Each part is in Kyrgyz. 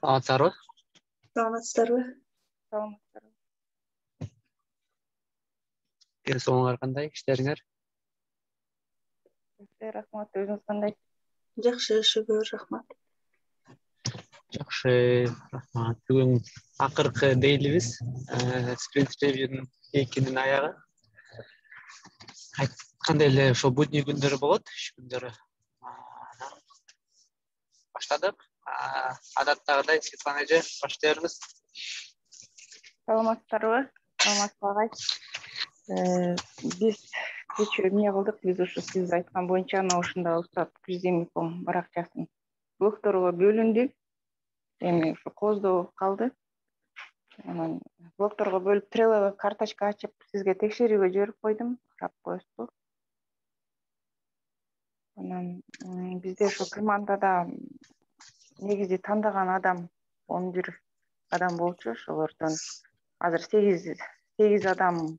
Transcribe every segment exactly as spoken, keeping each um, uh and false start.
Саламатсыздарбы? Саламатсыздарбы? Саламатсыздарбы? Кээ соңуңар кандай иштериңер? Рахмат, өзүңүз кандай? Жакшы, шүгүр, рахмат. Жакшы, рахмат. Бүгүн акыркы дейлибиз. Sprint Review'нун экинин аягы. Айткандай эле ошо будний күндөрү болот, иш күндөрү. Баштадык. Адаттагыдай Светлана эже баштайбыз. Саламатсыздарбы? Саламатсыз агай. Биз кечээ эмне кылдык? Биз ушу сиз айткан боюнча анан ушунда Устат Кюздемиком баракчасын блокторго бөлүндү. Эми ушу кооздоо калды. Анан блокторго бөлүп Trello карточка ачып, сизге текшерүүгө жиберип койдум. Карап коесузбу? Анан бизде ушу командада негизи тандаган адам он бир адам болчу. Ошолордон азыр сегиз сегиз адам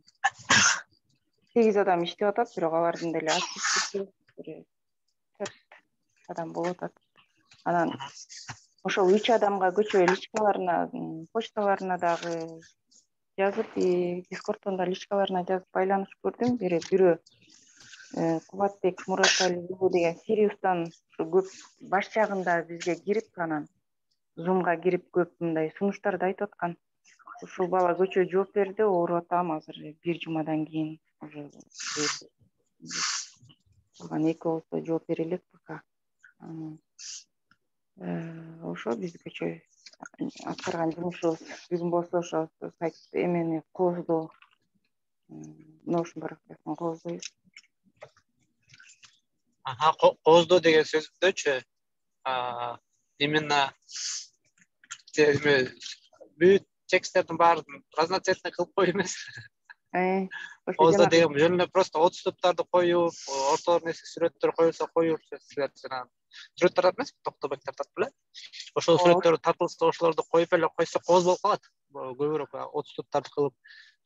сегиз адам иштеп атат, бирок алардын деле активдүүлүгү бир төрт адам болуп атат. Анан ошол үч адамга көчө личкаларына, почталарына дагы жазып, Дискордтон да личкаларына жазып байланыш көрдүм. Бирөө бирөө Кубатбек Мураталиев деген Сириустан ушу көп баш жагында бизге кирип, анан Zoom'га кирип көп мындай сунуштарды айтып аткан. Ушул бала көчө жооп берди, ооруп атам, азыр бир жумадан кийин уже калган эки болсо жооп бере элек пока. Ошо биз көчө аткарган жумушубуз. Бүгүн болсо ошо сайт эмени кооздоо, Notion баракчасын кооздойбуз. Аха, кооздоо деген сөздөөчү именно бүт тексттердин баарын разноцветный кылып коюу эмес. Кооздоо деген жөн эле просто отступтарды коюп, ортолоруна сүрөттөр коюлса коюп, силер жана сүрөт тартат эмес, токтобек тартат беле? Ошол сүрөттөр тартылса, ошолорду коюп эле койсо кооз болуп калат. Көбүрөөк отступтарды кылып,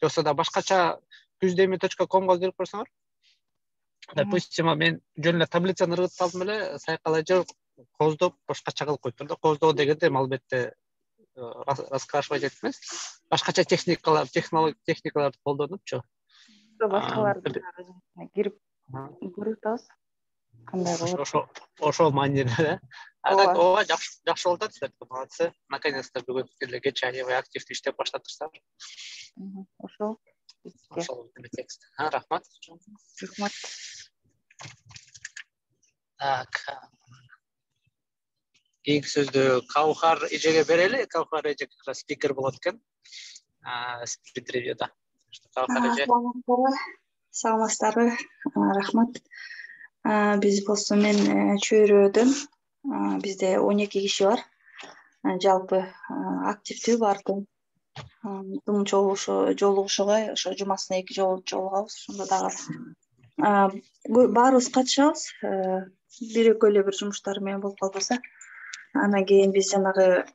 жоксо да башкача кюздеми точка комго кирип көрсөңөр. Допустим, мен жөн эле таблицаны ыргытып алдым эле, сайкала же кооздоп башкача кылып коюптум да. Кооздоо дегенде албетте раскрашивать этип эмес, башкача техникалар, технология техникаларды колдонупчу. Башкаларды кирип көрүп атабыз. Кандай болот? Ошо ошол маанилүү. Так, ооба жакшы жакшы болуп атат, силер молодцы. Наконец-то бүгүн эле кечээ аябай активдүү иштеп баштадыңыздар. Ошол. Ошол текст. Ha, рахмат. Рахмат. Так. Кийинки сөздү Каухар эжеге берели. Каухар эже как раз спикер болот экен. Sprint Review'да. Каухар эже. Саламатсыздарбы? Рахмат. Биз болсо мен чөйрөдөн. Бизде он эки киши бар. Жалпы активдүү бардым. Дум жолугушууга ошо жумасына эки жолу жолугабыз. Ошондо дагы баарыбыз катышабыз. Бир экөө эле бир жумуштар менен болуп калбаса, анан кийин биз жанагы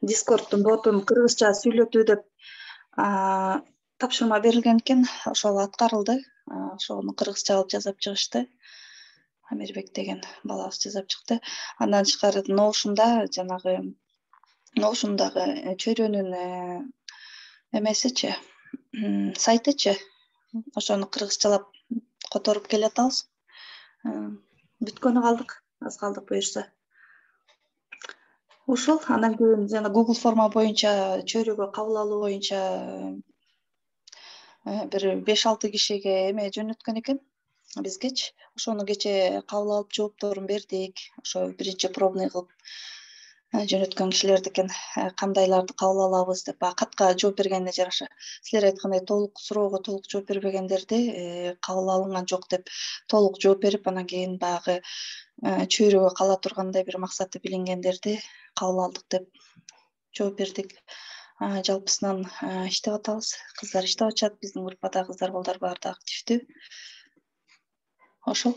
Discordдун ботун кыргызча сүйлөтүү деп тапшырма берилген экен. Ошол аткарылды. Ошону кыргызча кылып жазып чыгышты. Амирбек деген балабыз жазып чыкты. Андан тышкары Notion'да жанагы Notion'дагы чөйрөнүн эмесичи, сайтычы, ошону кыргызчалап которуп келатабыз. Бүткөнү калдык, аз калдык буюрса. Ошол анан кийин жана Google форма боюнча чөйрөгө кабыл алуу боюнча бир беш алты кишиге эме жөнөткөн экен бизгечи. Ошону кечээ кабыл алып жоопторун бердик. Ошо биринчи пробный кылып жөнөткөн кишилерди экен. Кандайларды кабыл алабыз деп катка жооп бергенине жараша. Силер айткандай толук суроого толук жооп бербегендерди кабыл алынган жок деп толук жооп берип, анан кийин баягы чөйрөгө кала тургандай бир максаты билингендерди кабыл алдык деп жооп бердик. Жалпысынан иштеп атабыз. Кыздар иштеп атышат. Биздин группада кыздар балдар баары да активдүү. Ошол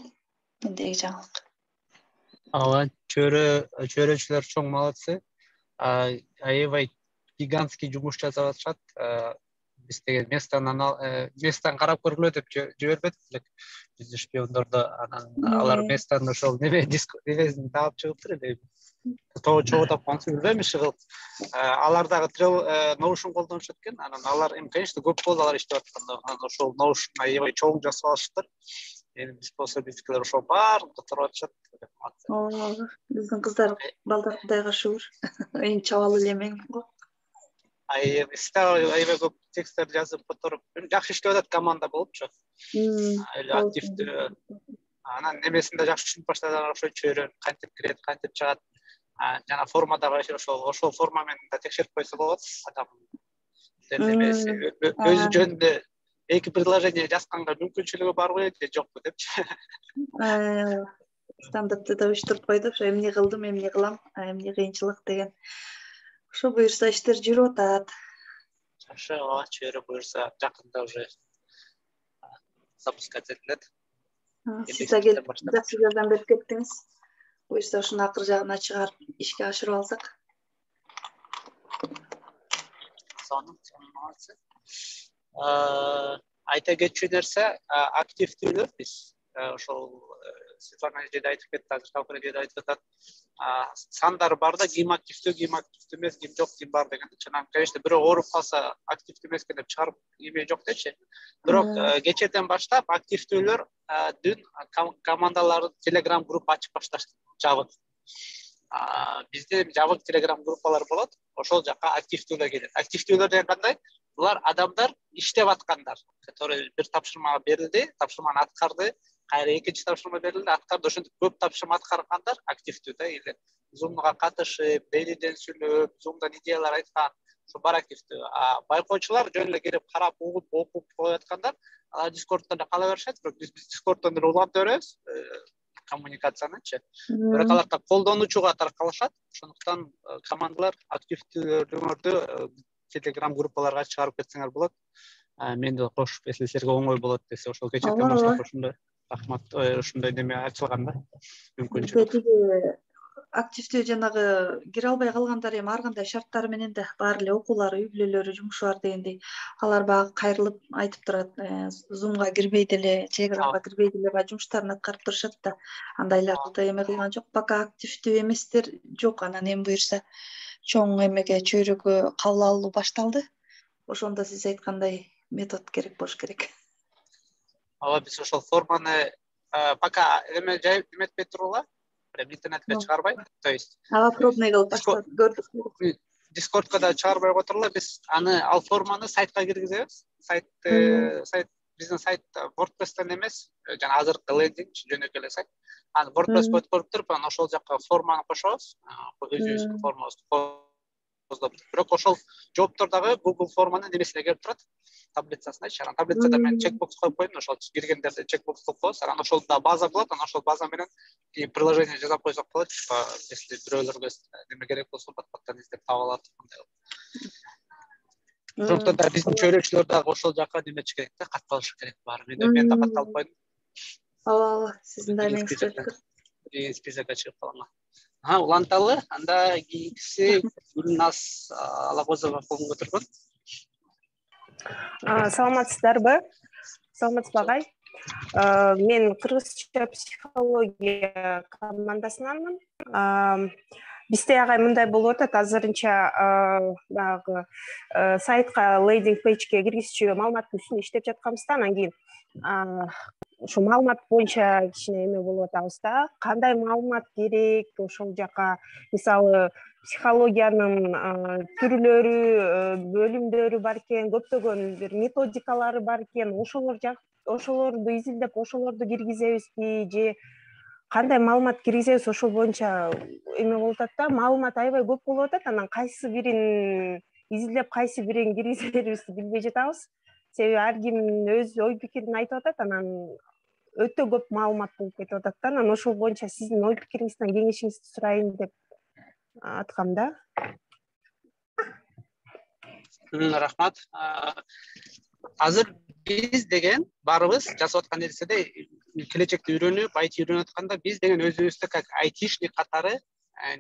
мендеги жаңылык. Ооба, чөйрө чөйрөчүлөр чоң молодцы. Аябай гигантский жумуш жасап атышат. биз деген местан местан карап көргүлө деп жибербедик элек биздин шпиондорду. Анан алар местан ошол неме немесин таап чыгыптыр эле. Чогуу тапкансы билбейм иши кылып. Алар дагы Notion колдонушат экен. Анан алар эми конечно көп болду алар иштеп атканда. Анан ошол Notion аябай чоң жасап алыштыр. Эми биз болсо биздикилер ошол баарын кытырып атышат. Ооба, биздин кыздар балдар Кудайга шүгүр. Эң чабалы эле мен го. Ай, стал аябай көп тексттерди жазып которуп, жакшы иштеп атат команда болупчу. Эле активдүү. Анан немесинде жакшы түшүнүп баштадылар, ошо чөйрөн кантип кирет, кантип чыгат. Жана формадагы ошол ошол форма менен да текшерип койсо болот. Адам немеси өзү жөнүндө эки предложение жазганга мүмкүнчүлүгү барбы же жокпу депчи. Стандартты да уюштуруп койду, ошо эмне кылдым, эмне кылам, эмне кыйынчылык деген. Ошо буюрса иштер жүрүп атат. Жакшы, ооба, чөйрө буюрса жакында уже запускать этилет. Сиз да келип жакшы жардам берип кеттиңиз. Буюрса ушуну акыр жагына чыгарып ишке ашырып алсак. Сонун, сонун. Айта кетчү нерсе, активдүүлөр биз ошол Светлана эже да айтып кетти, азыр Талкын эже да айтып атат. Сандар бар да, ким активдүү, ким активдүү эмес, ким жок, ким бар деген. Чынан, конечно, бирөө ооруп калса, активдүү эмес экен деп чыгарып эме жок дечи. Бирок кечээден баштап активдүүлөр дүн командалар Telegram групп ачып башташты, жабык. Бизде жабык Telegram группалар болот, ошол жака активдүүлөр келет. Активдүүлөр деген кандай? Булар адамдар иштеп аткандар, которые бир тапшырма берилди, тапшырманы аткарды, кайра экинчи тапшырма берилди, аткарды. Ошентип көп тапшырма аткаргандар активдүү да, эле Zoom'га катышып, дейлиден сүйлөп, Zoom'дан идеялар айткан, ошо бар активдүү. А байкоочулар жөн эле келип карап, угуп, окуп кояткандар, алар Discord'да да кала беришет, бирок биз Discord'дон эле улантып беребиз коммуникациянычы. Бирок алар да колдонуучуга таркалышат. Ошондуктан командалар активдүүлөрдү Telegram группаларга чыгарып кетсеңер болот. Мен да кошуп, если силерге оңой болот десе, ошол кечээден баштап ошондой рахмат, ошондой неме ачылган да, мүмкүнчүлүк. Активдүү жанагы кире албай калгандар эми ар кандай шарттары менен да баары эле окуулары, үй бүлөлөрү, жумушу бар дегендей, алар баягы кайрылып айтып турат, Zoom'га кирбей деле, Telegram'га кирбей деле баягы жумуштарын аткарып турушат да. Андайларды эме кылган жок. Пока активдүү эместер жок. Анан эми буюрса чоң эмеге, чөйрөгө кабыл алуу башталды. Ошондо сиз айткандай метод керек болуш керек. Ооба, биз ошол форманы пока эме жайып эметпей тургула, прям интернетке чыгарбай, то есть ага, пробный кылып баштап көрдүк. Discord'га да чыгарбай которула, биз аны ал форманы сайтка киргизебиз. Сайт сайт биздин сайт WordPress'тен эмес, жана азыркы лендинг жөнөкөй эле сайт. Аны WordPress коюп коюп туруп, анан ошол жакка форманы кошобуз, өзүбүздүн формабызды коздоп. Бирок ошол жооптор дагы Google форманын немесине келип турат, таблицасындачы. Анан таблицада мен чекбокс коюп койдум, ошол киргендерди чекбокс кылып коебуз. Анан ошол да база болот, анан ошол база менен приложение жасап койсок болот, если бирөөлөргө неме керек болсо, бат-баттан издеп таба алат. Ошондон да биздин чөйрөчүлөр дагы ошол жака немечи керек да, катталышы керек баары. Мен да катталып койдум. Ооба, сиздин да эмеңиз өттү. Списокко чыгып калган. Ha, уланталы, анда кийинкиси Гүлназ Алагозова колун көтөргөн. Саламатсыздарбы? Саламатсызбы агай? Мен кыргызча психология командасынанмын. Бизде агай мындай болуп атат, азырынча баягы сайтка лендинг пейджге киргизчү маалыматтын үстүндө иштеп жатканбыз да, анан кийин ошо маалымат боюнча кичине эме болуп атабыз да. Кандай маалымат керек? Ошол жака мисалы психологиянын түрлөрү, бөлүмдөрү бар экен, көптөгөн бир методикалары бар экен. Ошолор ошолорду изилдеп, ошолорду киргизебизби же кандай маалымат киргизебиз, ошол боюнча эме болуп атат да. Маалымат аябай көп болуп атат. Анан кайсы бирин изилдеп, кайсы бирин киргизерибизди билбей жатабыз. Себеби ар ким өз ой пикирин айтып атат, анан өтө көп маалымат болуп кетип атат да. Анан ошол боюнча сиздин ой пикириңизден кеңешиңизди сурайын деп аткам да. Рахмат. Азыр биз деген баарыбыз жасап аткан нерседе келечекте үйрөнүп, ай ти үйрөнүп атканда биз деген өзүбүздү как айтишник катары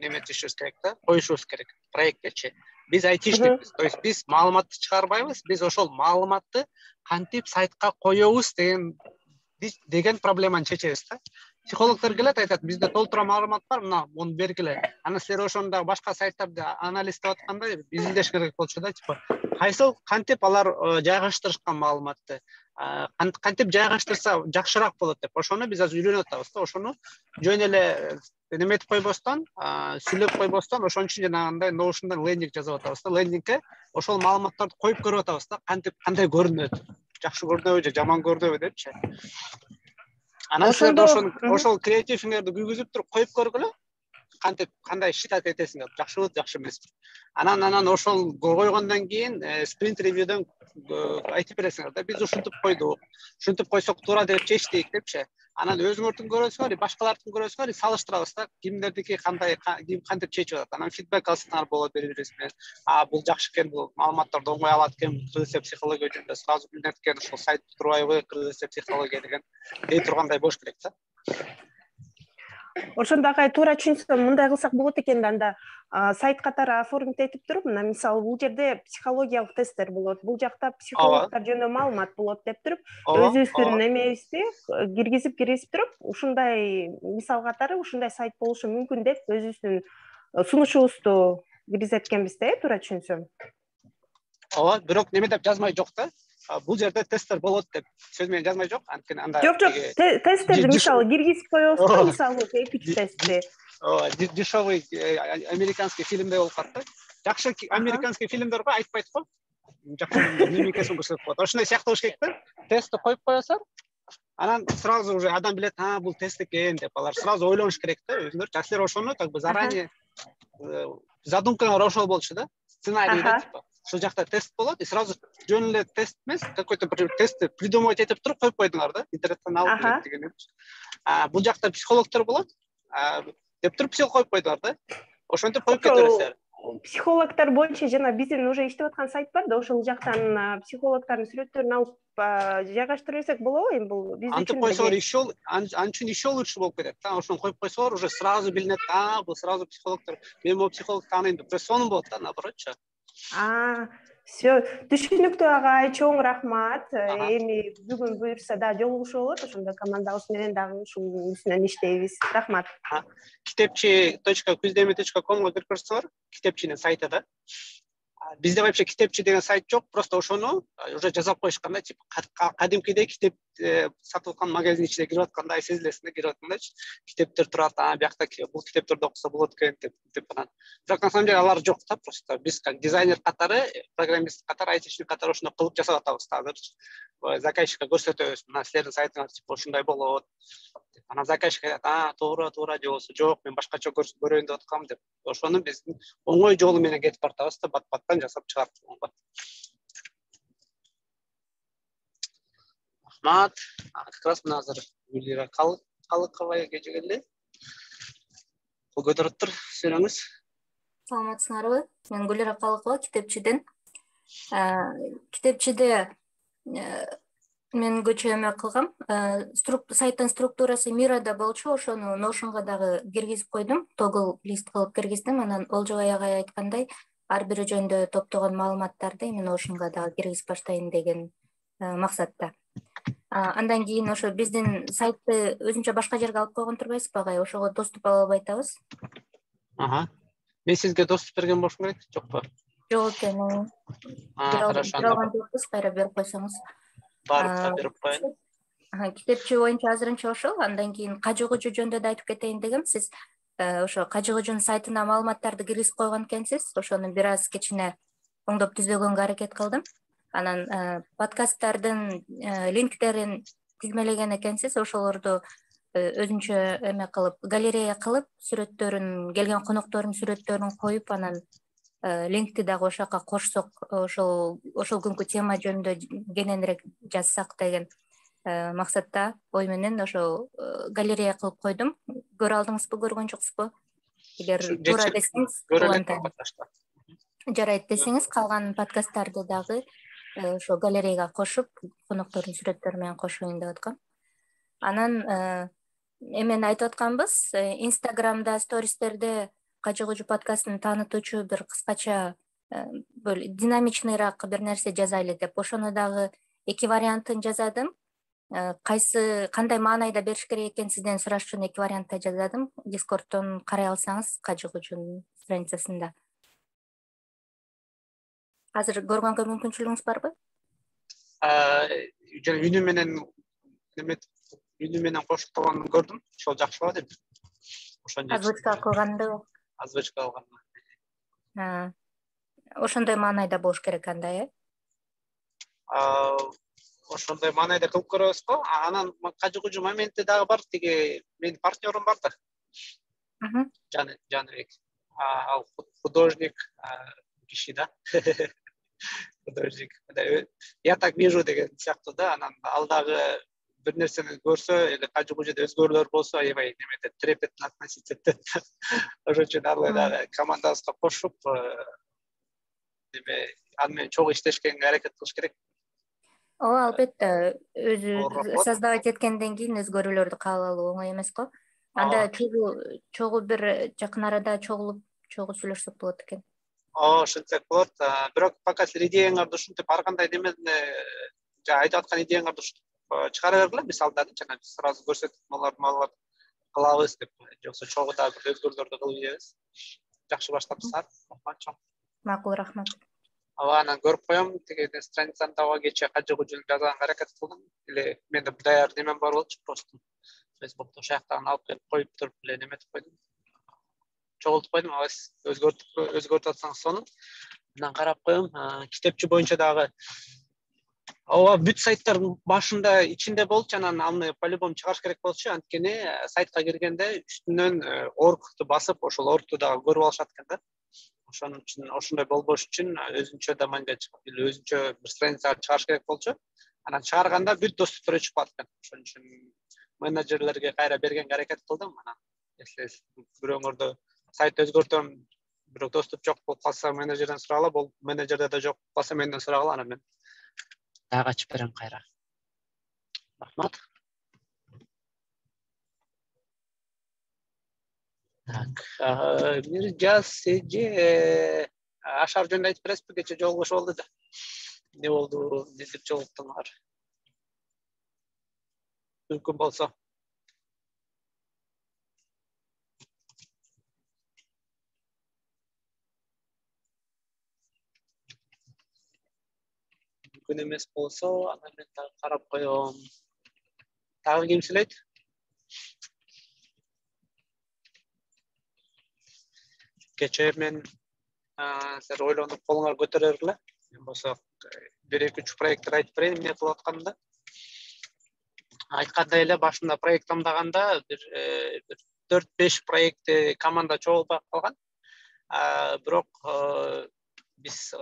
неме түшүбүз керек да, коюшубуз керек проекттечи. Биз айтишникпиз. То есть биз маалыматты чыгарбайбыз, биз ошол маалыматты кантип сайтка коебуз деген деген проблеманы чечебиз да. Психологдор келет, айтат, бизде толтура маалымат бар, мына муну бергиле. Анан силер ошону дагы башка сайттарды анализдеп атканда изилдеш керек болчу да, типа кайсыл кантип алар жайгаштырышкан маалыматты, кантип жайгаштырса жакшыраак болот деп. Ошону биз азыр үйрөнүп атабыз да. Ошону жөн эле неметип койбостон, сүйлөп койбостон, ошон үчүн жанагындай Notion'дан лендинг жазып атабыз да. Лендингке ошол маалыматтарды коюп көрүп атабыз да, кантип кандай көрүнөт, жакшы көрүнөбү же жаман көрүнөбү депчи. Анан силер ошол ошол креативиңерди күйгүзүп туруп коюп көргүлө, кантип кандай считать этесиңер, жакшыбы, жакшы эмеспи. Анан анан ошол койгондон кийин спринт ревьюдөн айтып бересиңер да, биз ушинтип койдук, ушинтип койсок туура деп чечтик депчи. Анан өзүңөрдүн көрөсүңөр, башкалардын көрөсүңөр, салыштырабыз да, кимдердики кандай, ким кантип чечип атат. Анан фидбек алсаңар болот, бере бересиңер. А бул жакшы экен, бул маалыматтарды оңой алат экен, кыргызча психология жөнүндө сразу билинет экен, ошол сайт турбайбы, кыргызча психология деген дей тургандай болуш керек да. Ошондо агай туура түшүнсөм, мындай кылсак болот экен да, анда сайт катары оформить этип туруп, мына мисалы бул жерде психологиялык тесттер болот, бул жакта психологдор жөнүндө маалымат болот деп туруп, өзүбүздүн эмебизди киргизип киргизип туруп, ушундай мисал катары ушундай сайт болушу мүмкүн деп өзүбүздүн сунушубузду киргизет экенбиз да, туура түшүнсөм. Ооба, бирок неме деп жазмай жок да. Бул жерде тесттер болот деп сөз менен жазмай жок, анткени анда жок жок, тесттерди мисалы киргизип коебуз да, мисалы эпич тестти. Ооба, дешевый американский фильмдей болуп калат да. Жакшы американский фильмдер го айтпайт го. Жакшы мимикасын көрсөтүп коет. Ошондой сыяктуу болуш керек да. Тестти коюп коесуңар, анан сразу уже адам билет, а бул тест экен деп, алар сразу ойлонуш керек да өзүнөр. Силер ошону как бы заранее задумкаңар ошол болчу да. Сценарий да, типа ушул жакта тест болот, и сразу жөн эле тест эмес, какой-то бир тестти придумывать этип туруп коюп койдуңар да, интернеттен алып келет деген. А бул жакта психологдор болот, деп туруп психолог коюп койдуңар да. Ошентип коюп кете бересиңер. Психологдор боюнча жана биздин уже иштеп аткан сайт бар да, ошол жактан психологдордун сүрөттөрүн алып жайгаштырып берсек болобу? Эми бул биз үчүн антип койсоңор иши ол анчын иши лучше болуп кетет да. Ошону коюп койсоңор уже сразу билинет, а бул сразу психологдор, мен могу психолог тааныйм деп. Сонун болот да, наоборотчу. А, все, түшүнүктүү агай, чоң рахмат. Эми бүгүн буюрса да жолугушуу болот, ошондо командабыз менен дагы ушул үстүнөн иштейбиз. Рахмат. китепчи точка куздеми точка комго кирип көрсөңөр, китепчинин сайты да. Бизде вообще китепчи деген сайт жок, просто ошону уже жазап коюшкан да, типа кадимкидей китеп сатып аткан магазин ичине кирип аткандай сезилесиң да, кирип аткандайчы. Китептер турат, а биякта бул китептерди окуса болот экен деп, деп анан. Бирок на самом деле алар жок да, просто биз как дизайнер катары, программист катары, айтишник катары ошону кылып жасап атабыз да азыр. Заказчикке көрсөтөбүз, мына силердин сайтыңар типа ушундай болот. Анан заказчик айтат, а туура, туура же болбосо жок, мен башкача көрөйүн деп аткам деп. Ошону биз оңой жолу менен кетип бартабыз да, бат-баттан жасап чыгарып. Рахмат. Как раз мына азыр Гүлира Калыковага келгенде. Кол көтөрүп тур, сөйлөңүз. Саламатсыңарбы? Мен Гүлира Калыкова, китепчиден. Китепчиде мен көчө эме кылгам. Сайттын структурасы Мирада болчу, ошону Notion'га дагы киргизип койдум. Тогл лист кылып киргиздим. Анан Олжобай агай айткандай, ар бири жөнүндө топтогон маалыматтарды эми Notion'га дагы киргизип баштайын деген максатта. Андан кийин ошо биздин сайтты өзүнчө башка жерге алып койгон турбайсызбы агай? Ошого доступ ала албай атабыз. Ага. Мен сизге доступ берген болушум керек, жокпу? Жок экен. Хорошо. Алган жокпуз, кайра берип койсоңуз. Барып берип коеюн. Китепчи боюнча азырынча ошол. Андан кийин Кажы Кожо жөнүндө да айтып кетейин дегем. Сиз ошо Кажы Кожонун сайтына маалыматтарды киргизип койгон экенсиз. Ошону бир аз кичине оңдоп түзөгөнгө аракет кылдым. Анан подкасттардын линктерин тизмелеген экенсиз. Ошолорду өзүнчө эме кылып, галерея кылып, сүрөттөрүн, келген коноктордун сүрөттөрүн коюп, анан линкти дагы ошол жака кошсок, ошол ошол күнкү тема жөнүндө кененирээк жазсак деген максатта ой менен ошол галерея кылып койдум. Көрө алдыңызбы, көргөн жоксузбу? Эгер туура десеңиз, улантайын. Жарайт десеңиз, калган подкасттарды дагы ошо галереяга кошуп, коноктордун сүрөттөрү менен кошоюн деп аткам. Анан эмени айтып атканбыз, Инстаграмда, стористерде Кажы Кожо подкастын таанытуучу бир кыскача бөл динамичныйраак бир нерсе жазайлы деп. Ошону дагы эки вариантын жазадым. Кайсы кандай маанайда бериш керек экен сизден сураш үчүн эки вариантта жазадым. Дискордтон карай алсаңыз Кажыгужун страницасында. Азыр көргөнгө мүмкүнчүлүгүңүз барбы? Жана үнү менен неме үнү менен коштолгонун көрдүм. Ошол жакшыбаа деп. Ошону озвучка кылганды. Озвучка кылган. Ошондой маанайда болуш керек анда, э? Ошондой маанайда кылып көрөбүз го. Анан Кажыгужу моменти дагы бар. Тиги менин партнерым бар да. Жаны Жаныбек. Ал художник киши да. Художник. Я так вижу деген сыяктуу да. Анан ал дагы бир нерсени көрсө, эле Кажыгужуда өзгөрүүлөр болсо, аябай немете трепетно относиться этет. Ошон үчүн алы дагы командабызга кошуп, неме аны менен чогуу иштешкенге аракет кылыш керек. Ооба, албетте, өзү создавать эткенден кийин өзгөрүүлөрдү кабыл алуу оңой эмес го. Анда чогуу чогуу бир жакын арада чогулуп, чогуу сүйлөшсөк болот экен. Ооба, ошентсек болот. Бирок пока силер идеяңарды ушинтип ар кандай немени жана айтып аткан идеяңарды чыгара бергиле, мисалда жана биз сразу көрсөтүп, маларды маларды кылабыз деп, жоксо чогуу дагы бир өзгөрүүлөрдү кылып ийебиз. Жакшы баштапсыздар. Рахмат. Макул, рахмат. Ага, анан көрүп коем, тиги страницаны дагы кечээ Кажыгужун жазганга аракет кылдым. Эле менде даяр немем бар болчу, просто Facebook'та ошол жактан алып келип коюп туруп эле неметип койдум. Чогултуп койдум, абайсыз өзгөртүп өзгөртүп атсаңыз сону. Анан карап коем, китепчи боюнча дагы ооба, бүт сайттардын башында ичинде болчу, анан аны по-любому чыгарыш керек болчу, анткени сайтка киргенде үстүнөн оргту басып, ошол оргту дагы көрүп алышат экен да. Ошон үчүн ошондой болбош үчүн өзүнчө домайнга чыгып, өзүнчө бир страницага чыгарыш керек болчу. Анан чыгарганда бүт доступтар өчүп калат экен. Ошон үчүн менеджерлерге кайра бергенге аракет кылдым. Анан если бирөөңөрдө сайт өзгөртөм, бирок доступ жок болуп калса, менеджерден сурагыла, бул менеджерде да жок болуп калса, менден сурагыла, анан мен дагы ачып берем кайра. Рахмат. Так, бир жаз эже ашар жөнүндө айтып бересизби? Кече жолугуш болду да. Не болду, не деп жолуктуңар? Мүмкүн болсо. Мүмкүн эмес болсо, анан мен дагы карап коем. Дагы ким сүйлөйт? Кече мен силер ойлонуп колуңар көтөрө бергиле. Мен болсо бир эки үч проекттер айтып берейин, эмне кылып атканымды. Айткандай эле башында проект тамдаганда бир төрт беш проектти команда чогултуп калган. Бирок биз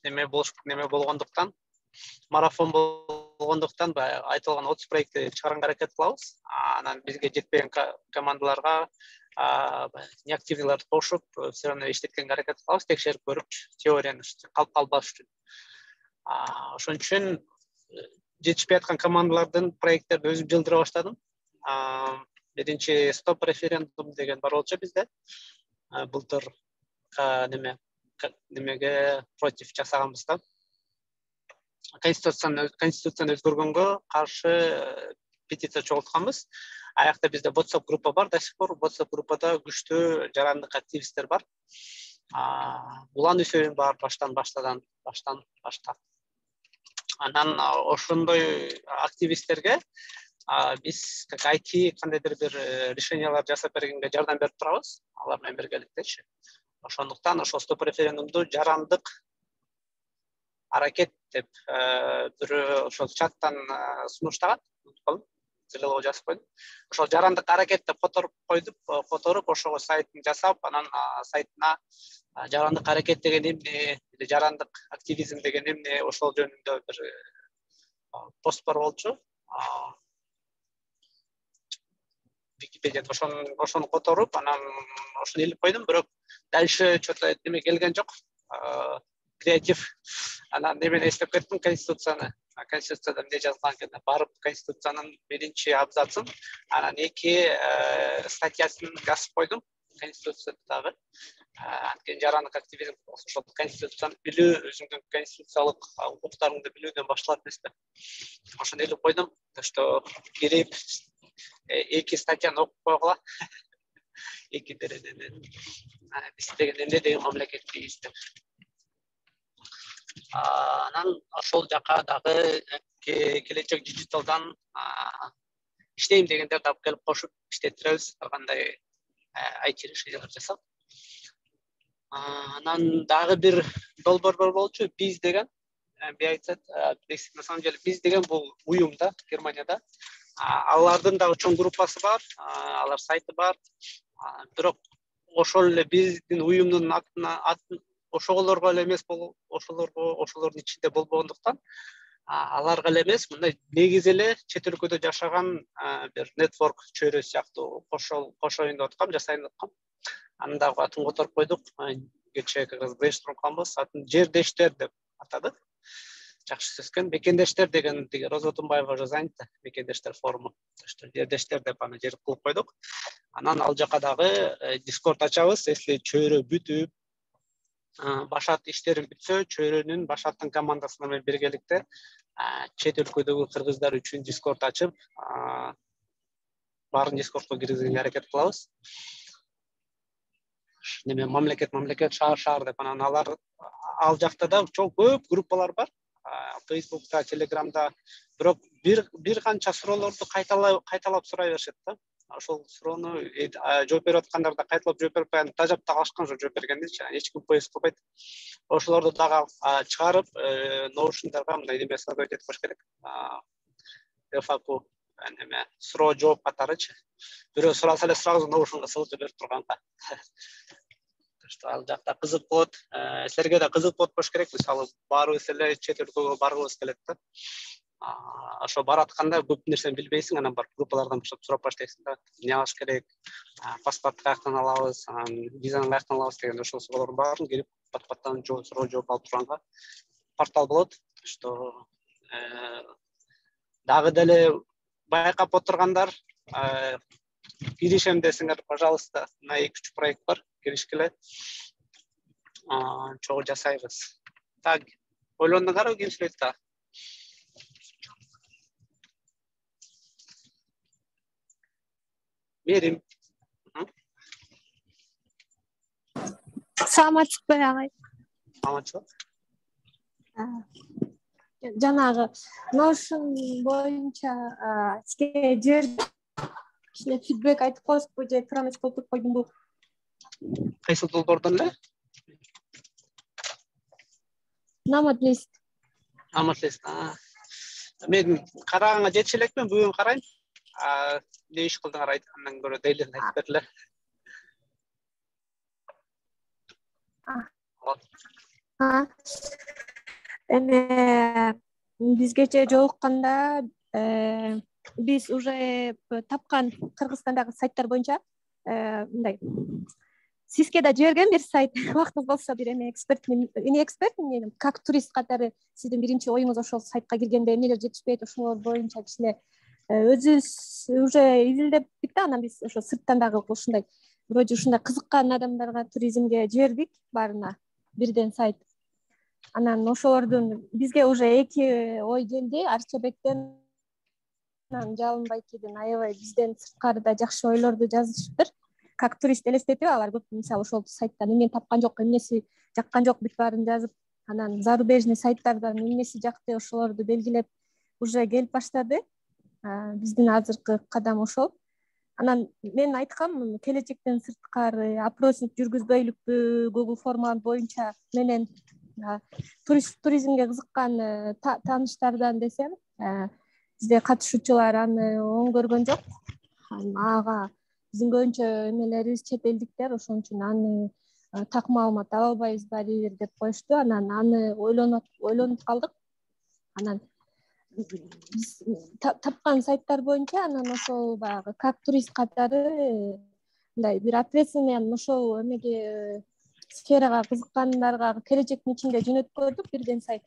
неме болуш неме болгондуктан, марафон болгондуктан айтылган отуз проектти чыгарганга аракет кылабыз. Анан бизге жетпеген командаларга неактивныйларды кошуп, все равно иштеткенге аракет кылабыз, текшерип көрүп, теорияны калып калбаш үчүн. Ошон үчүн жетишпей аткан командалардын проекттерди өзүм жылдыра баштадым. Биринчи стоп референдум деген бар болчу бизде. Былтыр неме немеге против жасаганбыз да. Конституцияны конституцияны өзгөргөнгө каршы петиция чогултканбыз. Аякта бизде WhatsApp группа бар, до сих пор WhatsApp группада күчтүү жарандык активисттер бар. Улан Үсөйүн бар баштан баштадан, баштан баштап. Анан ошондой активисттерге биз как ай ти кандайдыр бир решениялар жасап бергенге жардам берип турабыз. Алар менен биргеликтечи. Ошондуктан ошол стоп референдумду жарандык аракет деп бирөө ошол чаттан сунуштаган. Зелелоо жазып койдум. Ошол жарандык аракет деп которуп койдуп, которуп ошого сайтын жасап, анан сайтына жарандык аракет деген эмне, жарандык активизм деген эмне, ошол жөнүндө бир пост бар болчу. Википедияда ошону ошону которуп, анан ошону илип койдум, бирок дальше что-то неме келген жок. Креатив. Анан немени эстеп кеттим, конституцияны. Конституцияда эмне жазылган экен? Барып конституциянын биринчи абзацын, анан эки статьясын жазып койдум конституциядагы. анткени жарандык активизм ошол конституцияны билүү, өзүңдүн конституциялык укуктарыңды билүүдөн башталат эмеспи. Ошону элеп койдум, что кирип эки статьяны окуп койгула. Эки дереден биз деген эмне деген мамлекетпиз деп. Анан ошол жака дагы келечек дижиталдан иштейм дегендерди алып келип кошуп иштеттиребиз. Кандай ай ти решениялар жасап. Анан дагы бир долбоор бар болчу, биз деген. Би айтсат, на самом деле биз деген бул уюм да, Германияда. Алардын дагы чоң группасы бар, алар сайты бар. Бирок ошол эле биздин уюмдун атына атын ошолорго эле эмес болуп, ошолорго, ошолордун ичинде болбогондуктан, аларга эле эмес, мындай негизи эле чет өлкөдө жашаган бир нетворк чөйрө сыяктуу кошол кошоюн деп аткам, жасайын деп аткам. Анын дагы атын которуп койдук. Кечээ как раз брейншторм кылганбыз. Атын жердештер деп атадык. Жакшы сөз экен. Мекендештер деген Роза Отунбаева уже занята, мекендештер форуму. Жердештер деп аны жер кылып койдук. Анан ал жака дагы Discord ачабыз. Если чөйрө бүтүп, башат иштерин бүтсө, чөйрөнүн башаттын командасы менен биргеликте чет өлкөдөгү кыргыздар үчүн Discord ачып, баарын Discordко киргизүүгө аракет кылабыз. Неме мамлекет мамлекет шаар шаар деп анан алар ал жакта да чоң көп группалар бар. Facebook'ta, Telegram'da бирок бир бир канча суроолорду кайталап кайталап сурай беришет да. Ошол суроону жооп берип аткандар да кайталап жооп берип атпай, тажап калышкан жок жооп бергендечи, эч ким поиск кылбайт. Ошолорду дагы чыгарып, Notion'дарга мындай неме создать этип коюш керек. эф эй кью неме суроо жооп катарычы. Бирөө сураса эле сурагыңызды Notion'га ссылка берип турганга. Что ал жакта кызык болот, силерге да кызык болот болуш керек. Мисалы, баарыбыз эле чет өлкөгө баргыбыз келет да. Ошо баратканда көп нерсени билбейсиң, анан бар группалардан баштап сурап баштайсың да. Эмне алыш керек? Паспорт каяктан алабыз, анан визаны каяктан алабыз деген ошол суроолордун баарын келип пат-паттан суроо жооп алып турганга портал болот. Что дагы деле байкап отургандар, киришем десеңер, пожалуйста, на эки үч проект бар, киришкиле. Чогуу жасайбыз. Так, ойлондуңарбы, ким сүйлөйт да? Мерим. Саламатсызбы агай? Саламатчылык. Жанагы Notion боюнча сизге жер кичине фидбек айтып коесузбу же туура эмес болуп койдумбу? Кайсы долбоордон эле? Намадлист. Намадлист. Мен караганга жетише элекмин, бүгүн карайм. Не иш кылдыңар айткандан көрө дейлин айтып бергиле. Эме бизгече жолукканда биз уже тапкан Кыргызстандагы сайттар боюнча мындай сизге да жиберген бир сайт, убактыңыз болсо бир эме эксперт, эне эксперт, как турист катары сиздин биринчи оюңуз ошол сайтка киргенде эмнелер жетишпейт, ошолор боюнча кичине өзүбүз уже изилдептик да, анан биз ошо сырттан дагы ушундай вроде ушундай кызыккан адамдарга туризмге жибердик баарына бирден сайт. Анан ошолордун бизге уже эки ой келди, Арчабектен, анан Жалынбайкиден аябай бизден сырткары да жакшы ойлорду жазышыптыр. Как турист элестетип алар көп, мисалы ошол сайттан эмнени тапкан жок, эмнеси жаккан жок, бүт баарын жазып, анан зарубежный сайттардан эмнеси жакты ошолорду белгилеп уже келип баштады. Биздин азыркы кадам ошол. Анан мен айткам, келечектен сырткары опросник жүргүзбөйлүкпү, Google форма боюнча менен турист туризмге кызыккан тааныштардан десем, бизде катышуучулар аны оң көргөн жок. Ага биздин көбүнчө эмелерибиз чет элдиктер, ошон үчүн аны так маалымат ала албайбыз барибир деп коюшту. Анан аны ойлонуп ойлонуп калдык. Анан биз тапкан сайттар боюнча анан ошол баягы как турист катары мындай бир ответственный ошол эмеге сферага кызыккандарга келечектин ичинде жөнөткөрдүк бирден сайт.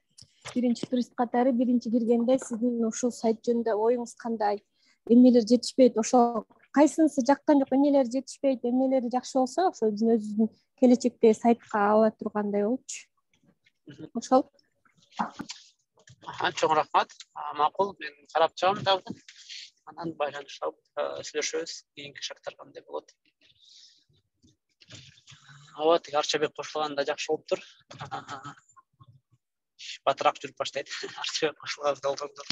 Биринчи турист катары биринчи киргенде сиздин ушул сайт жөнүндө оюңуз кандай, эмнелер жетишпейт, ошол кайсынысы жаккан жок, эмнелери жетишпейт, эмнелери жакшы болсо, ошо биздин өзүбүздүн келечекте сайтка ала тургандай болчу. Ошол. Чоң рахмат. Макул, мен карап чыгам дагы. Анан байланышып сүйлөшөбүз. Кийинки шарттар кандай болот. Ооба, тиги Арчабек кошулганда жакшы болуптур. Батыраак жүрүп баштайт. Арчабек кошулган долгондор.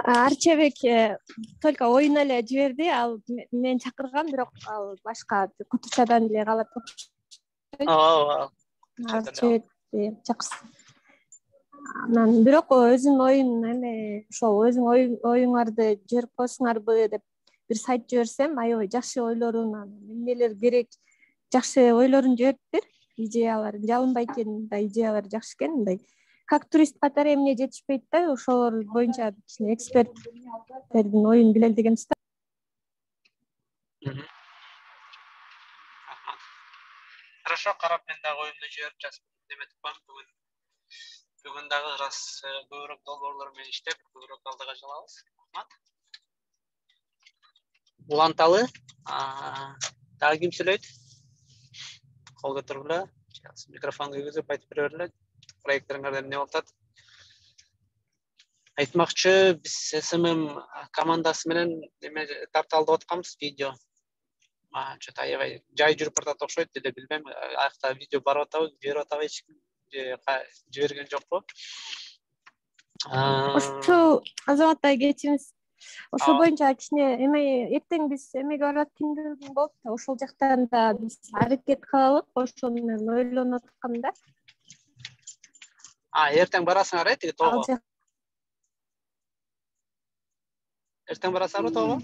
Арчабек только оюн эле жиберди, ал мен чакыргам, бирок ал башка Кутучадан эле калат. Ооба. Арчабек чакырсын. Анан бирок өзүнүн оюн эме ошол өзүңүн оюңарды жиберип коесуңарбы деп бир сайт жиберсем, аябай жакшы ойлорун, эмнелер керек, жакшы ойлорун жибериптир, идеяларын. Жалынбай экен да, идеялары жакшы экен, мындай. Как турист катары эмне жетишпейт да, ошолор боюнча кичине эксперттердин оюн билели деген ста. Хорошо, карап мен дагы оюмду жиберип жазып неметип коем. Бүгүн бүгүн дагы ырас көбүрөөк долбоорлор менен иштеп, көбүрөөк алдыга жылабыз. Рахмат. Уланталы, дагы ким сүйлөйт? Кол көтөргүлө. Микрофон күйгүзүп айтып бере бергиле. Проектлериңерде эмне болуп атат? Айтмакчы, биз эс эм эм командасы менен эме тарталып атканбыз видео. Чөт аябай жай жүрүп баратат окшойт, деле билбейм. Аякта видео барып атабы, жиберип атабы эч ким же жиберген жокпу? Ошо Азамат ай кечиңиз. Ошол боюнча кичине эме эртең биз эмеге барып аткандыгым болуп да, ошол жактан да биз аракет кылалык, ошол менен ойлонуп аткам да. А, эртең барасыңар, тиги тоого. Эртең барасыңарбы тоого?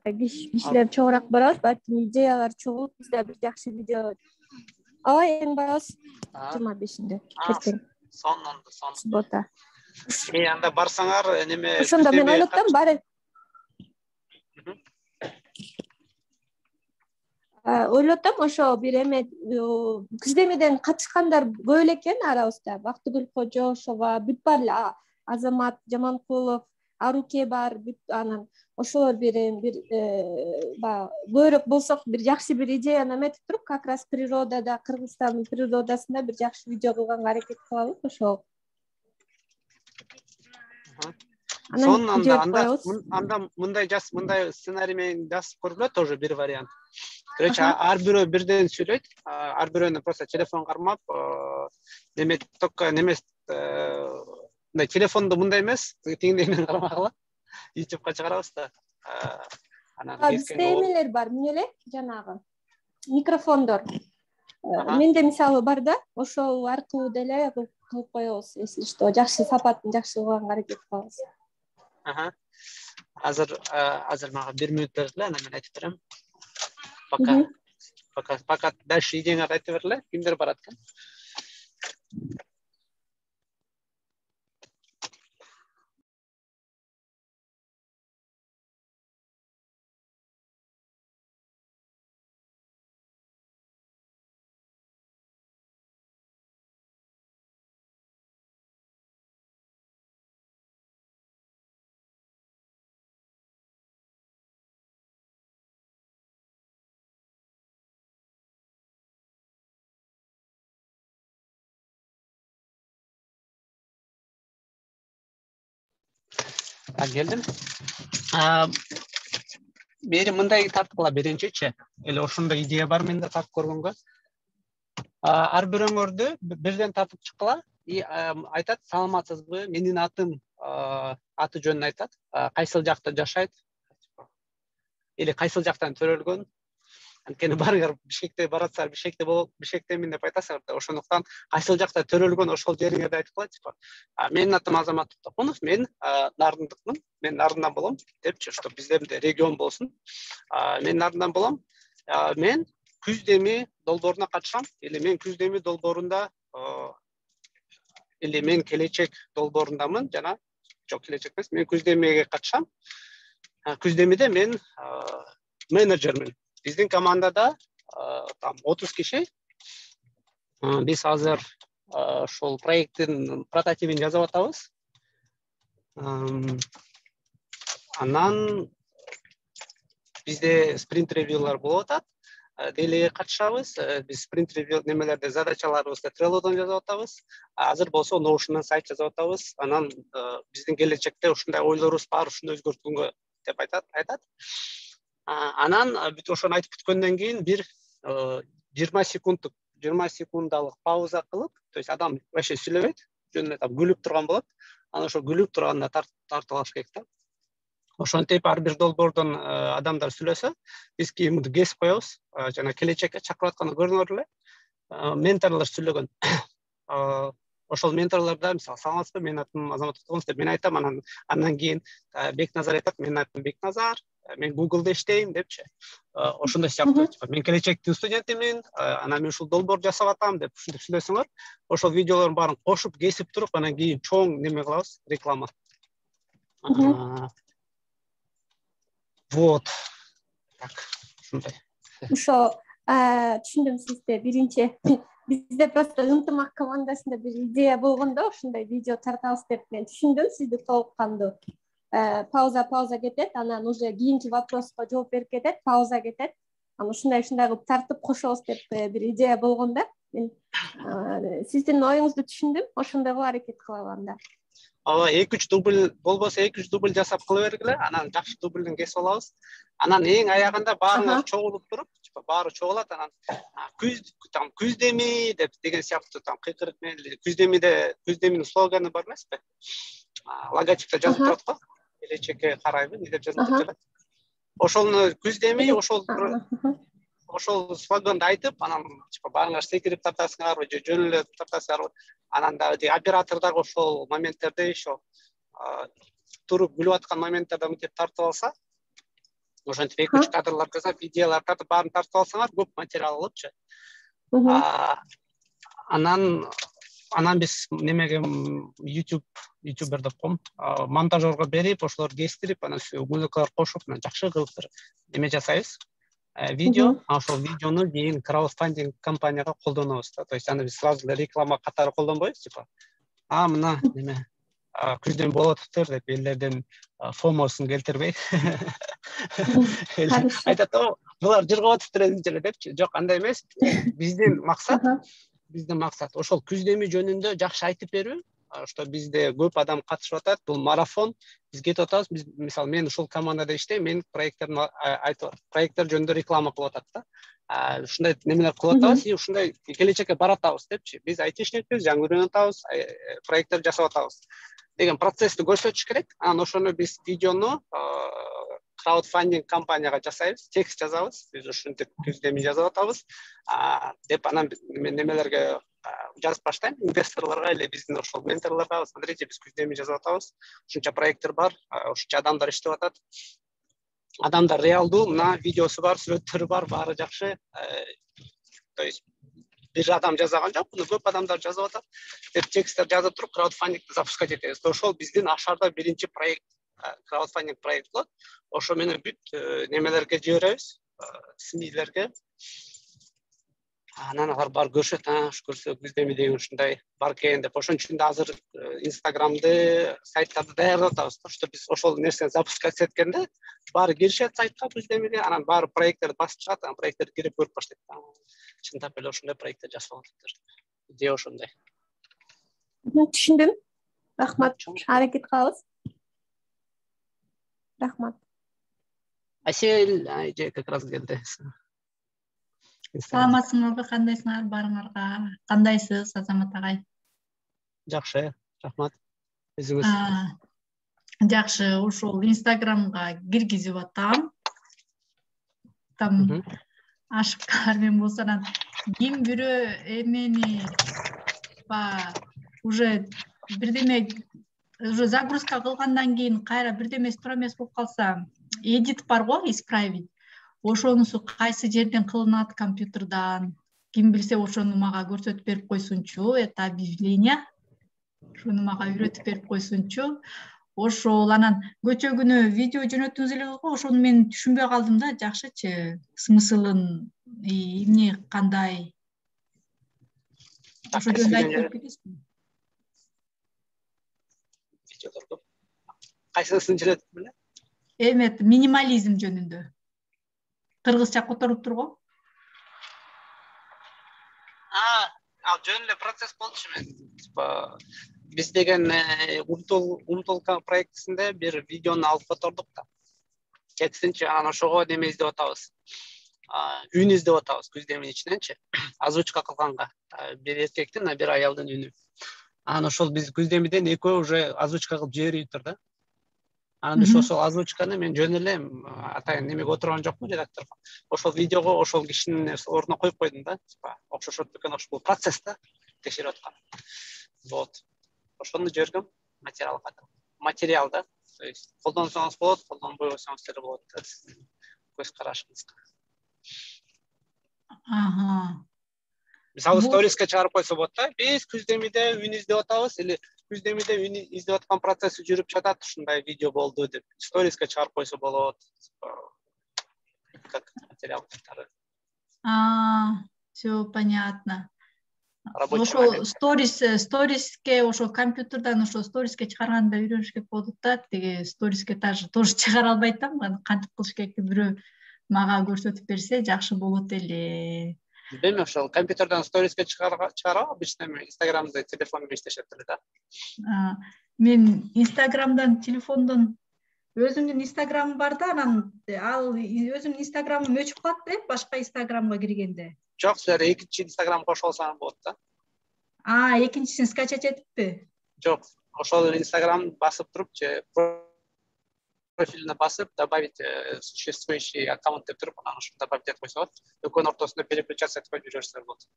Кишилер чоңураак барабыз, балким идеялар чогулуп, бизде бир жакшы видео. Ооба, эртең барабыз. жыйырма бешинде. Эртең. Сонунду, сон. Суббота. Э, анда барсаңар, неме? Ошондо мен ойлоп атам, баары. Ойлоп атам, ошо бир эме күздемеден катышкандар көп эле экен арабызда. Бактыгүл Кожошова, бүт бар эле, Азамат Жаманкулов, Аруке бар, бүт анан ошолор бир бир баягы көбүрөөк болсок, бир жакшы бир идеяны эметип туруп, как раз природада, Кыргызстандын природасында бир жакшы видео кылганга аракет кылабыз, ошол. Сон анда анда анда мындай жаз, мындай сценарий менен жазып көргүлө, тоже бир вариант. Короче, ар бирөө бирден сүйлөйт, ар бирөөнү просто телефон кармап, неме только немес, мындай телефонду мындай эмес, тигиндей менен кармагыла. ютубка чыгарабыз да. Анан бизде эмелер бар, эмне эле жанагы микрофондор. Менде мисалы бар да, ошол аркылуу деле кылып коебуз, если что, жакшы сапатын жакшы кылганга аракет кылабыз. Аха. Азыр азыр мага бир мүнөт бергиле, анан мен айтып берем. Пока пока пока дальше идеяңарды айтып бергиле, кимдер барат экен? Geldim. Бери мындай тарткыла биринчичи. Эле ошондой идея бар менде тартып көргөнгө. Ар бирөөңөрдү бирден тартып чыккыла и айтат, саламатсызбы, менин атым, аты жөнүн айтат, кайсыл жакта жашайт, или кайсыл жактан төрөлгөн. Анткени барыңар Бишкекте баратсаңар, Бишкекте болуп, Бишкектемин деп айтасыңар да, ошондуктан кайсыл жакта төрөлгөн ошол жериңерди айтып койчу. Менин атым Азамат Токунов, мен Нардындыкмын, мен Нардындан болом депчи, что биздерде регион болсун. Мен Нардындан болом. Мен күздеми долбооруна катышам, или мен күздеми долбоорунда, или мен келечек долбоорундамын, жана жок, келечек эмес, мен күздемиге катышам. Күздемиде мен менеджермин. Биздин командада там отуз киши. Биз азыр ошол проекттин прототипин жазып атабыз. Анан бизде спринт ревьюлар болуп атат. Делеге катышабыз. Биз спринт ревью немелерде задачаларыбызды Trello'дон жазып атабыз. Азыр болсо Notion'дан сайт жазып атабыз. Анан биздин келечекте ушундай ойлорубуз бар, ушуну өзгөрткөнгө деп айтат, айтат. Анан бүт ошону айтып бүткөндөн кийин бир жыйырма секунддук жыйырма секундалык пауза кылып, то есть адам вообще сүйлөбөйт, жөн эле күлүп турган болот. Анан ошо күлүп турганда тартып алыш керек да. Ошентип ар бир долбоордон адамдар сүйлөсө, биз кийин муну кесип коебуз. Жана келечекке чакырып атканы көрүнөр эле. Менторлор сүйлөгөн. Ошол менторлордо мисалы саламатсызбы, менин атым Азамат Токтогонов деп мен айтам, анан андан кийин Бекназар айтат, менин атым Бекназар, мен Google'да иштейм депчи. Ошондой сыяктуу, мен келечектин студентимин, анан мен ушул долбоор жасап атам деп ушинтип сүйлөсөңөр, ошол видеолордун баарын кошуп кесип туруп, анан кийин чоң неме кылабыз, реклама. Вот. Так, ушундай. Ошо түшүндүм сизди. Биринчи бизде просто ынтымак командасында бир идея болгондо ушундай видео тартабыз деп мен түшүндүм сизди толук кандуу. Пауза пауза кетет, анан уже кийинки вопроска жооп берип кетет, пауза кетет. Анан ушундай ушундай кылып тартып кошобуз деп бир идея болгон да. Мен сиздин оюңузду түшүндүм, ошондой кылып аракет кылабы анда. Ооба, эки үч дубль болбосо эки үч дубль жасап кыла бергиле, анан жакшы дубльден кесип алабыз. Анан эң аягында баарыңар чогулуп туруп, баары чогулат, анан күз там күздеми деп деген сыяктуу там кыйкырык менен күздемиде күздеминин слоганы бар эмеспи? Логотипте жазып турат го. Келечекке карайбы, деп жазып турат. Ошону күздеми, ошол ошол слоганды айтып, анан типа баарыңар секирип тартасыңарбы, же жөн эле тартасыңарбы? Анан дагы оператор дагы ошол моменттерде ошо туруп күлүп аткан моменттерде мынтип тартып алса, ошентип эки үч кадрлар жасап, идеялар тартып, баарын тартып алсаңар, көп материал болупчу. Анан анан биз немеге YouTube YouTuber деп коем, монтажерго берип, ошолор кестирип, анан музыкалар кошуп, анан жакшы кылып бир неме жасайбыз. Видео, а ошол видеону кийин краудфандинг компанияга колдонобуз да. То есть аны биз сразу реклама катары колдонбойбуз, типа, а мына неме күздөн болуп атыптыр деп элдердин фомосун келтирбей. Айтат, о, булар жыргап атыптыр өзүнчө эле депчи. Жок, андай эмес. Биздин максат, биздин максат ошол күздеми жөнүндө жакшы айтып берүү. Что бизде көп адам катышып атат, бул марафон, биз кетип атабыз. Биз мисалы мен ушул командада иштейм, мен проекттерин айтып, проекттер жөнүндө реклама кылып атат да. Ушундай немелер кылып атабыз, и ушундай келечекке баратабыз депчи. Биз айтишникпиз, жаңы үйрөнүп атабыз, проекттер жасап атабыз деген процессти көрсөтүш керек. Анан ошону биз видеону краудфандинг компанияга жасайбыз, текст жазабыз, биз ушинтип күздеми жазып атабыз деп, анан мен немелерге жазып баштайм, инвесторлорго или биздин ошол менторлорго, смотрите, биз күздеми жазып атабыз, ушунча проекттер бар, ушунча адамдар иштеп атат. Адамдар реалдуу, мына видеосу бар, сүрөттөрү бар, баары жакшы. То есть бир адам жазган жок, муну көп адамдар жазып атат деп тексттер жазып туруп, краудфандингди запускать этебиз. Ошол биздин ашарда биринчи проект, краудфандинг проект болот. Ошо менен бүт немелерге жиберебиз, СМИлерге. Анан алар бар көрүшөт, аш көрсө күздеми деген ушундай бар экен деп. Ошон үчүн да азыр Инстаграмды, сайттарды даярдап атабыз. Что биз ошол нерсени запускать эткенде баары киришет сайтка күздемиге, анан баары проекттерди басып чыгат, анан проекттерди кирип көрүп баштайт. Чындап эле ошондой проекттер жасап атыптыр. Идея ошондой. Түшүндүм. Рахмат. Аракет кылабыз. Рахмат. Асель, же как раз келди. Саламатсыңарбы, кандайсыңар, баарыңарга? Кандайсыз, Азамат агай? Жакшы, рахмат. Өзүңүз? Жакшы, ошол Инстаграмга киргизип атам. Там ашыккар мен болсо анан ким бирөө эмени ба уже бирдеме уже загрузка кылгандан кийин кайра бирдемеси туура эмес болуп калса, эдит бар го, исправить. Ошонусу кайсы жерден кылынат компьютердан, ким билсе ошону мага көрсөтүп берип койсунчу, это объявление. Ошону мага үйрөтүп берип койсунчу. Ошол анан көчөгүнө видео жөнөттүңүз эле го, ошону мен түшүнбөй калдым да, жакшычы, смыслын, эмне кандай. Ошо жөнүндө айтып берип кетесизби? Видеолор көп. Кайсысын жөнөттүм эле? эме минимализм жөнүндө кыргызча которуптур го. А, ал жөн эле процесс болчу мен. Типа биз деген Умтул Умтулка проектисинде бир видеону алып котордук да. Кетсинчи анан ошого неме издеп атабыз. Үн издеп атабыз күздемин ичиненчи. Озвучка кылганга бир эркектин, бир аялдын үнү. Анан ошол биз күздемиден экөө уже озвучка кылып жибериптир да. Анан ошол ошол озвучканы мен жөн эле атайын немеге отурган жокмун редакторго. Ошол видеого ошол кишинин ордуна коюп койдум да. Типа окшошот экен, ошол бул процесс да текшерип аткан. Вот. Ошону жибергем материалга. Материал да. То есть колдонсоңуз болот, колдонбой койсоңуз деле болот. Көз карашыңызга. Ага. Мисалы сториске чыгарып койсо болот да. Биз күздемиде үн издеп атабыз, или күздемиде үн издеп аткан процесси жүрүп жатат, ушундай видео болду деп сториске чыгарып койсо болот. Как материал катары. А, всё понятно. Ошо сторис сториске ошо компьютерден ошо сториске чыгарганда үйрөнүш керек болот да. Тиги сториске даже тоже чыгара албайт да. Кантип кылыш керек бирөө мага көрсөтүп берсе жакшы болот эле. Эми ошол компьютерден сториске чыгарып обычно Инстаграмды телефон менен иштешет эле да. Мен Инстаграмдан телефондон өзүмдүн Инстаграмым бар да, анан ал өзүмдүн Инстаграмым өчүп калат да, башка Инстаграмга киргенде. Жок, силер экинчи Инстаграм кошо алсаңыз болот да. А, экинчисин скачать этиппи? Жок, ошол Инстаграм басып туруп же профилине басып добавить существующий аккаунт деп туруп, анан ошо добавить этип койсо болот. Экөөнүн ортосунда переключаться этип коюп жүрөсөңөр болот.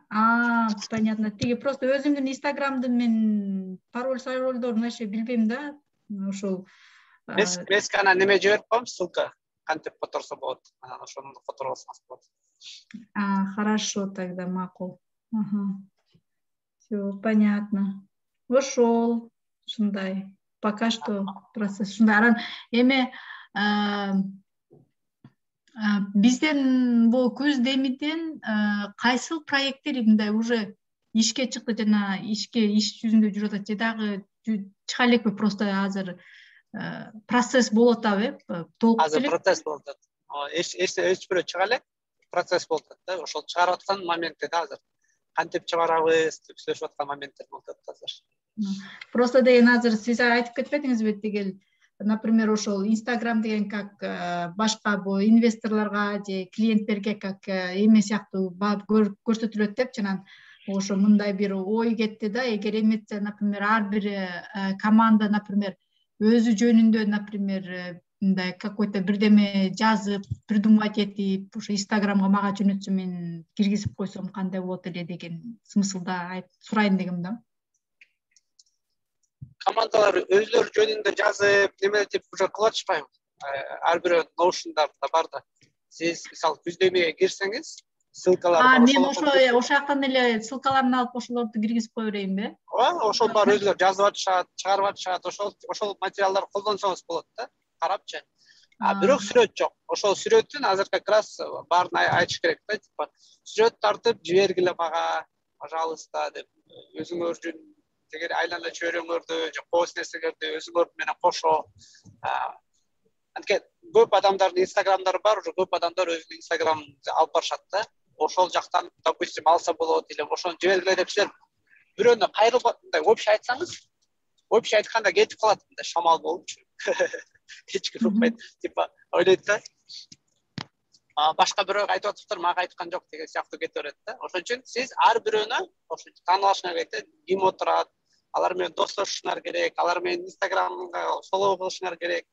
А, понятно. Тиги просто өзүмдүн Инстаграмды мен пароль парольдорун вообще билбейм да. Ошол Меске анан неме жиберип коем, ссылка кантип которсо болот. Анан ошону которуп алсаңыз болот. А, хорошо, тогда макул. Ага. Всё понятно. Ошол ушундай. Пока что процесс ушундай. Анан эме бизден бул күздемиден кайсыл проекттер мындай уже ишке чыкты, жана ишке иш жүзүндө жүрүп атат же дагы чыга элекпи, просто азыр процесс болуп атабы, толук азыр процесс болуп атат. Эч эч бирөө чыга элек, процесс болуп атат да. Ошол чыгарып аткан моментте да азыр кантип чыгарабыз деп сүйлөшүп аткан моменттер болуп атат азыр. Просто деген азыр сиз айтып кетпедиңизби, тигил, например, ошол Инстаграм деген как башка бул инвесторлорго же клиенттерге как эме сыяктуу көрсөтүлөт деп, жана ошо мындай бир ой кетти да, эгер эметсе, например, ар бир команда, например, өзү жөнүндө, например, мындай какой-то бирдеме жазып, придумать этип, ошо Инстаграмга мага жөнөтсө, мен киргизип койсом кандай болот эле деген смыслда сурайын дегем да. Командалар өзлөрү жөнүндө жазып, неме деп уже кылып атышпайбы? Ар бирөө ноушндарда бар да. Сиз мисалы күздемеге кирсеңиз, ссылкалар бар. А, мен ошо ошол жактан эле ссылкаларын алып ошолорду киргизип кое берейинби? Ооба, ошол бар, өзүлөр жазып атышат, чыгарып атышат, ошол ошол материалдарды колдонсоңуз болот да, карапчы. А бирок сүрөт жок. Ошол сүрөтүн азыр как раз баарын айтыш керек да, типа сүрөт тартып жибергиле мага, пожалуйста деп, өзүңөрдүн эгер айлана чөйрөңөрдү же пост нерселерди өзүңөр менен кошо. Анткени көп адамдардын Инстаграмдары бар, уже көп адамдар өзүнүн Инстаграмын алып барышат да. Ошол жактан, допустим, алса болот, или ошону жибергиле деп силер бирөөнө кайрылып мындай общий айтсаңыз, общий айтканда кетип калат, мындай шамал болупчу. Эч ким укпайт, типа ойлойт да. Башка бирөө айтып атыптыр, мага айткан жок деген сыяктуу кете берет да. Ошон үчүн сиз ар бирөөнө ошо таанып алышыңар керек да, ким отурат, алар менен достошушуңар керек, алар менен Инстаграмга фоллоу кылышыңар керек,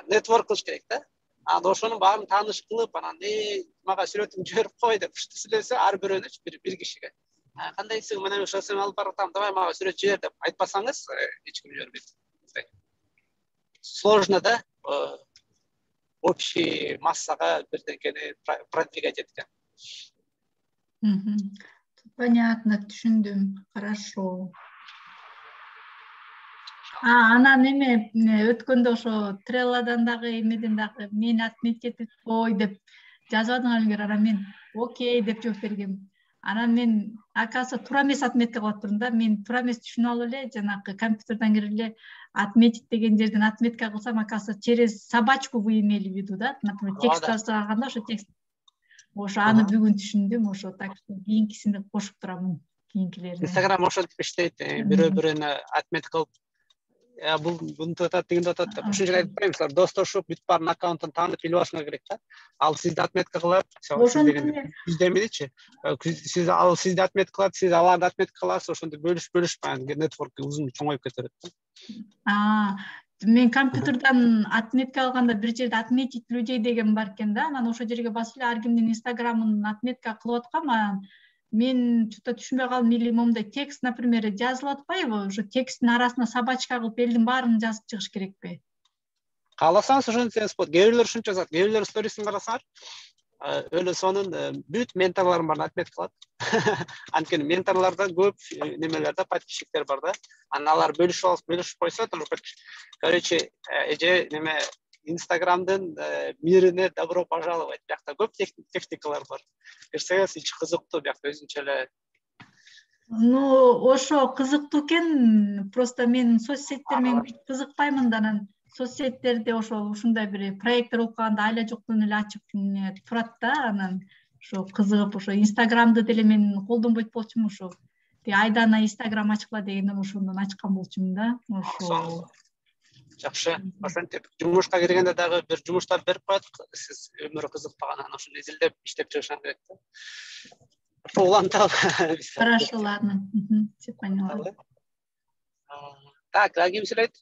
нетворк кылыш керек да. Анан ошонун баарын тааныш кылып, анан э мага сүрөтүңдү жиберип кой деп сүйлөсө, ар бирөөнү бир бир кишиге кандайсың, мен ошону алып баратам, давай мага сүрөт жибер деп айтпасаңыз, эч ким жибербейт. Сложно да, общий массага бирдекени продвигать эткен. Понятно, түшүндүм. Хорошо. А, анан эме өткөндө ошо Трелладан дагы эмеден дагы мени отметить этип кой деп жазбадыңарбы, анан мен окей деп жооп бергем. Анан мен акасы туура эмес отметка кылып турдум да. Мен туура эмес түшүнүп алып эле жанагы компьютерден кирип эле отметить деген жерден отметка кылсам, акасы через собачку вы имели в виду да. Например, текст жазганда ошо текст. Ошо аны бүгүн түшүндүм, ошо так что кийинкисине кошуп турамын, кийинкилерине. Instagram ошентип иштейт, бирөө бирөөнө отметка кылып, я бул мынтип атат, тигинтип атат деп. Ушунча айтып коеюн, силер достошуп, бүт баарын аккаунтун таанып билип алышыңар керек да. Ал сизди отметка кылат, сиз демедичи. Сиз ал сизди отметка кылат, сиз аларды отметка кыласыз, ошондо бөлүшүп бөлүшүп анан нетворк узун чоңоюп кетет да. Мен компьютерден отметка алганда бир жерде отметить людей деген бар экен да. Анан ошол жерге басып эле ар кимдин инстаграмын отметка кылып аткам. Анан мен чөтө түшүнбөй калдым, или момундай текст, например, жазылып атпайбы? Ошо тексттин арасына собачка кылып элдин баарын жазып чыгыш керекпи? Кааласаңыз ошентсеңиз болот. Кээ бирлер ушунча жазат. Кээ бирлер сторисин карасаңар, өлө сонун бүт менторлорун баарын отметка кылат. Анткени менторлордо көп немелер да, подписчиктер бар да. Анан алар бөлүшүп алып, бөлүшүп койсо, короче, эже неме Инстаграмдын мирине добро пожаловать. Биякта көп техникалар бар. Кирсеңиз ичи кызыктуу, биякта өзүнчө эле. Ну, ошо кызыктуу экен. Просто мен соцсеттер менен кызыкпаймын да, анан соцсеттерде ошо ушундай бир проекттер болуп калганда айла жоктон эле ачып турат да. Анан ошо кызыгып, ошо Инстаграмды деле мен колдонбойт болчумун, ошо. Тиги Айдана Инстаграм ачкыла дегенден ошондон ачкан болчумун да. Ошо жакшы. Ошентип жумушка киргенде дагы бир жумуштар берип коет, сиз өмүрү кызыкпагандан ошону изилдеп иштеп чыгышыңар керек да. Улантап. Хорошо, ладно. Все поняла. Так, ким сүйлөйт?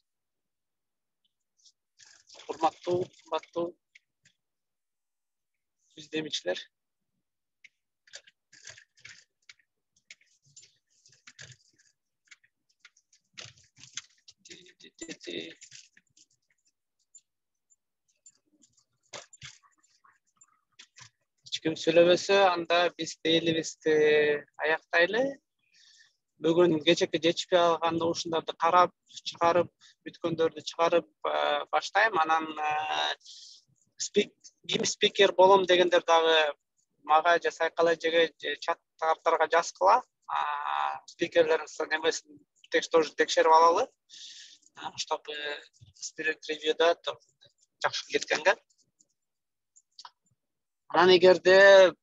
Урматтуу, урматтуу издемичилер. Ким сүйлөбөсө, анда биз дейлибизди аяктайлы. Бүгүн кечеки жетишпей калган ушундарды карап, чыгарып, бүткөндөрдү чыгарып баштайм. Анан ким спикер болом дегендер дагы мага же Сайкал эжеге, же чаттарга жазгыла. Спикерлердин немесин тоже текшерип алалы. Чтобы спирит ревьюда жакшы кеткенге. Анан эгерде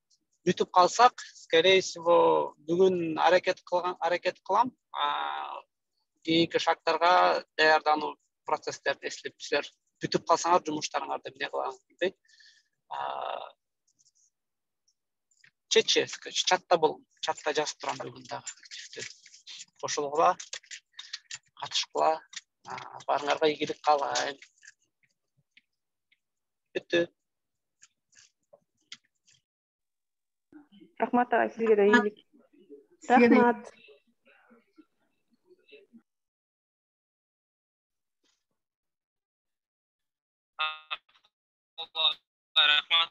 бүтүп калсак, скорее всего, бүгүн аракет кылган, аракет кылам. Кийинки шагтарга даярдануу процесстерди эслеп, силер бүтүп калсаңар жумуштарыңарды эмне кыламыз билбейт. Чечи, чатта болом, чатта жазып турам бүгүн дагы активдүү. Кошулгула, катышкыла, баарыңарга ийгилик каалайм. Бүттү. Рахмат ага, сизге да ийгилик. Рахмат. Рахмат.